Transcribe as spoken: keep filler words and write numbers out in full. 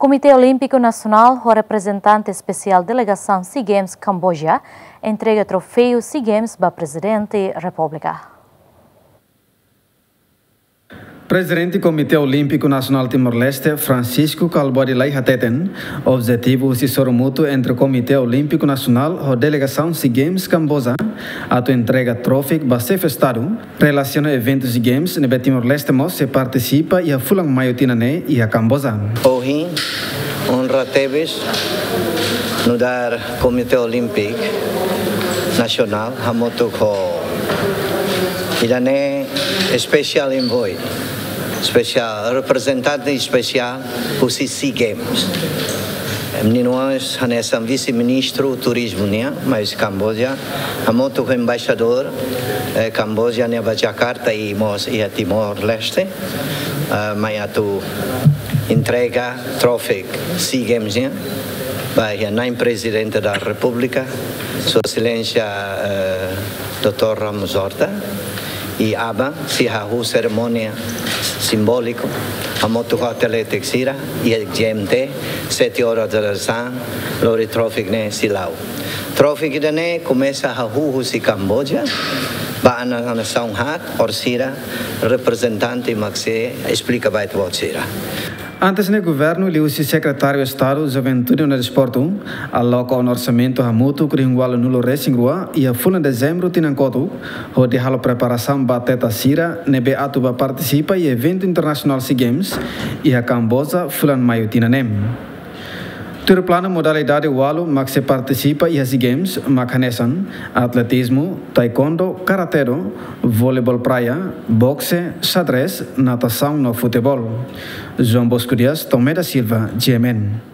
Komité Olímpiku Nasionál ho reprezentante espesiál delegasaun SEA Games Kamboja entrega troféu SEA Games ba Prezidente Repúblika. Prezidente Komité Olímpiku Nasionál Timor-Leste, Francisco Kalbuadi Lay hateten, objetivu husi sorumutu entre Komité Olímpiku Nasionál ho delegasaun SEA Games Kamboja atu entrega troféu ba Xefe Estadu, relasiona eventu SEA Games ne'ebé Timor-Leste mós sei partisipa iha fulan Maiu tinan ne'e iha Kamboja. Ohin, onra tebes nu'udar Komité Olímpiku Nasionál hamutuk ho ida-ne'e special envoy, special reprezentante espesiál husi SEA Games. Meninu hanesan vise-ministru turizmu nian, mai husi Kamboja, hamutuk ho embaixadór, eh, Kamboja nian ba Jakarta i mós iha Timor-Leste, eh, mai atu entrega troféu SEA Games nian ba iha Na'in Prezidente da Repúblika, Sua Exelénsia, eh, doutór Ramos Horta, i aban sei hahú serimónia simbóliku hamutuk ho atlétiku sira iha G M T, sete horas da tarde, lori troféu ne'e sei la'o. Troféu ida-ne'e komesa hahú husi Kamboja ba nasaun haat, orsida reprezentante mak sei esplika ba ita-boot sira. Antes ne'e, governu liuhusi Sekretáriu Estadu Juventude no Desportu aloka ona orsamentu hamutuk rihun ualunulu-resin-rua iha fulan Dezembru tinan kotuk, hodi halo preparasaun ba atleta sira ne'ebé atu bá partisipa iha eventu internasionál SEA Games iha Kamboja fulan Maiu tinan ne'e. Tuir planu, modalidade ualu mak sei partisipa iha SEA Games mak hanesan atletizmu, taekwondo, karate-do, voleibol praia, bokse, xadrez, natasaun no futeból. João Bosco Dias, Tomé da Silva, G M N.